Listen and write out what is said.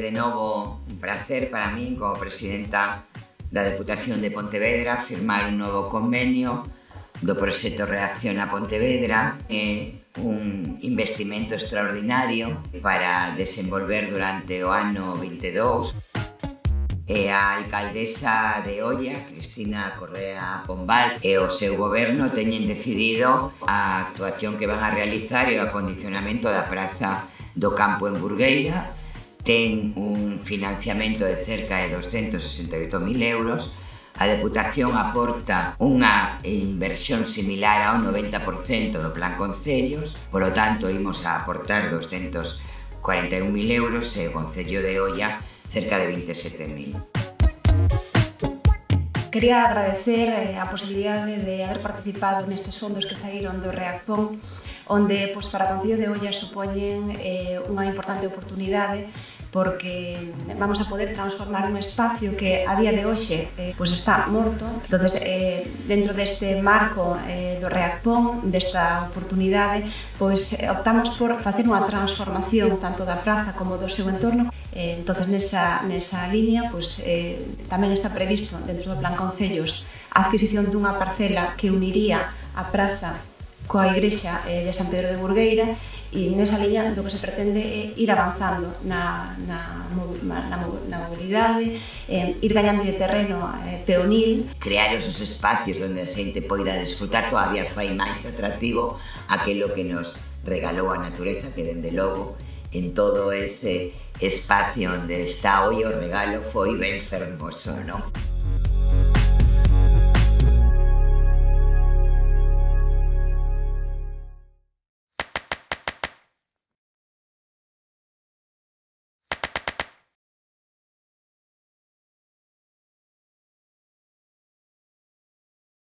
de novo un placer para min como presidenta da Deputación de Pontevedra firmar un novo convenio do proxecto Reacciona Pontevedra, un investimento extraordinario para desenvolver durante o ano 22. A alcaldesa de Oia, Cristina Correa Pombal, e o seu goberno teñen decidido a actuación que van a realizar e o acondicionamento da praza do campo en Burgueira. Ten un financiamento de cerca de 268.000 euros. A Deputación aporta unha inversión similar ao 90% do Plan Concellos, polo tanto, imos a aportar 241.000 euros e o Concello de Oia cerca de 27.000. Quería agradecer a posibilidade de haber participado nestes fondos que saíron do Reacpon, onde para o Concello de Oia supoñen unha importante oportunidade porque vamos a poder transformar un espacio que a día de hoxe está morto. Entonces, dentro deste marco do Reacpon, desta oportunidade, optamos por facer unha transformación tanto da praza como do seu entorno. Entonces, nesa liña, tamén está previsto dentro do Plan Concellos a adquisición dunha parcela que uniría a praza coa igrexa de San Pedro de Burgueira, e nesa liña do que se pretende é ir avanzando na mobilidade, ir gañando de terreno peonil. Crear esos espacios onde a xente poida desfrutar todavía fai máis atractivo aquilo que nos regalou a natureza, que dende logo en todo ese espacio onde está hoy o regalo foi ben fermoso, non?